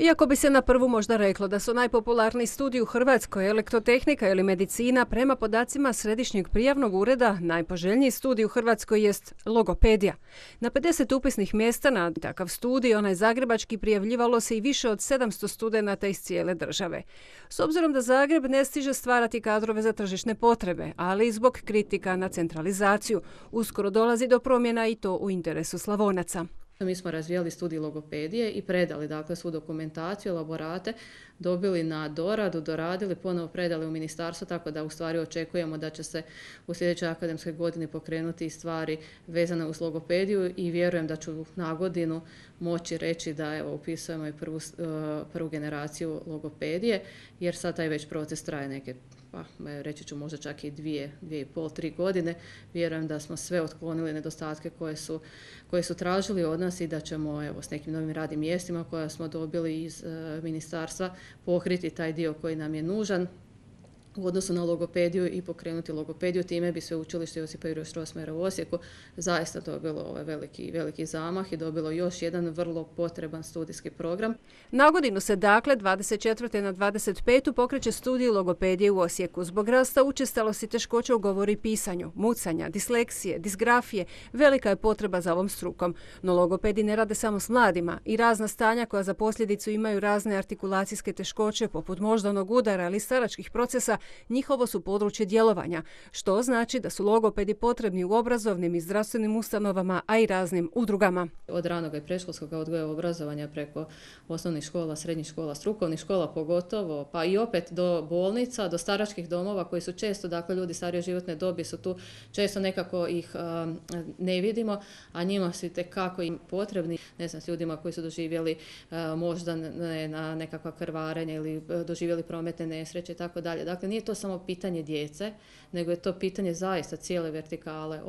Iako bi se na prvu možda reklo da su najpopularniji studiji u Hrvatskoj elektrotehnika ili medicina, prema podacima Središnjeg prijavnog ureda najpoželjniji studij u Hrvatskoj jest logopedija. Na 50 upisnih mjesta na takav studij, onaj zagrebački, prijavljivalo se i više od 700 studenata iz cijele države. S obzirom da Zagreb ne stiže stvarati kadrove za tržišne potrebe, ali i zbog kritika na centralizaciju, uskoro dolazi do promjena i to u interesu Slavonaca. Mi smo razvijali studij logopedije i predali svu dokumentaciju, elaborate, dobili na doradu, doradili, ponovo predali u ministarstvo, tako da u stvari očekujemo da će se u sljedećoj akademskoj godini pokrenuti stvari vezane uz logopediju i vjerujem da ću na godinu moći reći da upisujemo i prvu generaciju logopedije, jer sad taj već proces traje neke, reći ću možda čak i 2,5-3 godine. Vjerujem da smo sve otklonili nedostatke koje su tražili od nas i da ćemo s nekim novim radnim mjestima koja smo dobili iz ministarstva pokriti taj dio koji nam je nužan u odnosu na logopediju i pokrenuti logopediju. Time bi Sveučilište Josipa Jurja Strossmayera u Osijeku zaista dobilo veliki zamah i dobilo još jedan vrlo potreban studijski program. Na godinu se 24. na 25. pokreće studij logopedije u Osijeku. Zbog rasta učestalosti teškoća u govoru i pisanju, mucanja, disleksije, disgrafije, velika je potreba za ovom strukom. No logopedi ne rade samo s mladima i razna stanja koja za posljedicu imaju razne artikulacijske teškoće poput moždanog udara ili staračkih procesa, njihovo su područje djelovanja, što znači da su logopedi potrebni u obrazovnim i zdravstvenim ustanovama, a i raznim udrugama. Od ranog i predškolskog odgoja i obrazovanja preko osnovnih škola, srednjih škola, strukovnih škola pogotovo, pa i opet do bolnica, do staračkih domova koji su često, ljudi starije životne dobi su tu, često nekako ih ne vidimo, a njima su itekako im potrebni, s ljudima koji su doživjeli možda na nekakva krvarenja ili doživjeli prometne nesreće i tako dalje. Dakle, nije to samo pitanje djece, nego je to pitanje zaista cijele vertikale,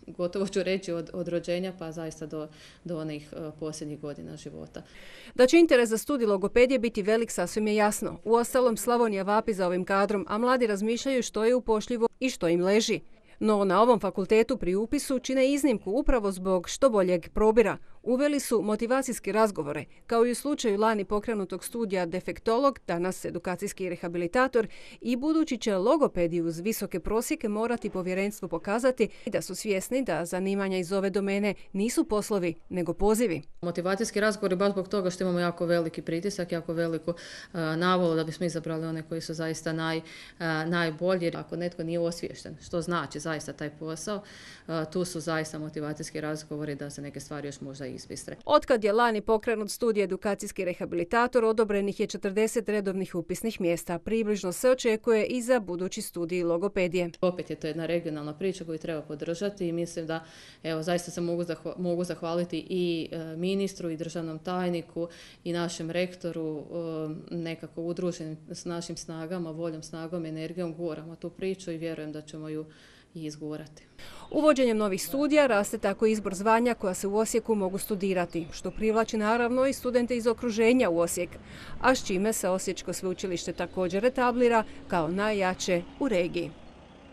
gotovo ću reći od rođenja pa zaista do onih posljednjih godina života. Da će interes za studij logopedije biti velik sasvim je jasno. Uostalom, Slavonija vapi za ovim kadrom, a mladi razmišljaju što je upošljivo i što im leži. No na ovom fakultetu pri upisu čine iznimku upravo zbog što boljeg probira. Uveli su motivacijske razgovore, kao i u slučaju lani pokrenutog studija defektolog, danas edukacijski rehabilitator, i budući će logopedi uz visoke prosjeke morati povjerenstvu pokazati da su svjesni da zanimanja iz ove domene nisu poslovi, nego pozivi. Motivacijski razgovori baš zbog toga što imamo jako veliki pritisak, jako veliku navolu da bismo izabrali one koji su zaista najbolji. Ako netko nije osviješten, što znači zaista taj posao, tu su zaista motivacijski razgovori da se neke stvari još možda izbistre. Otkad je lani pokrenut studij edukacijski rehabilitator, odobrenih je 40 redovnih upisnih mjesta. Približno se očekuje i za budući studij logopedije. Opet je to jedna regionalna priča koju treba podržati i mislim da zaista se mogu zahvaliti i ministru i državnom tajniku i našem rektoru, nekako udruženim s našim snagama, voljom, snagom, energijom guramo tu priču i vjerujem da ćemo ju i izgurati. Uvođenjem novih studija raste tako izbor zvanja koja se u Osijeku mogu studirati, što privlači naravno i studente iz okruženja u Osijek, a s čime se Osječko sveučilište također etablira kao najjače u regiji.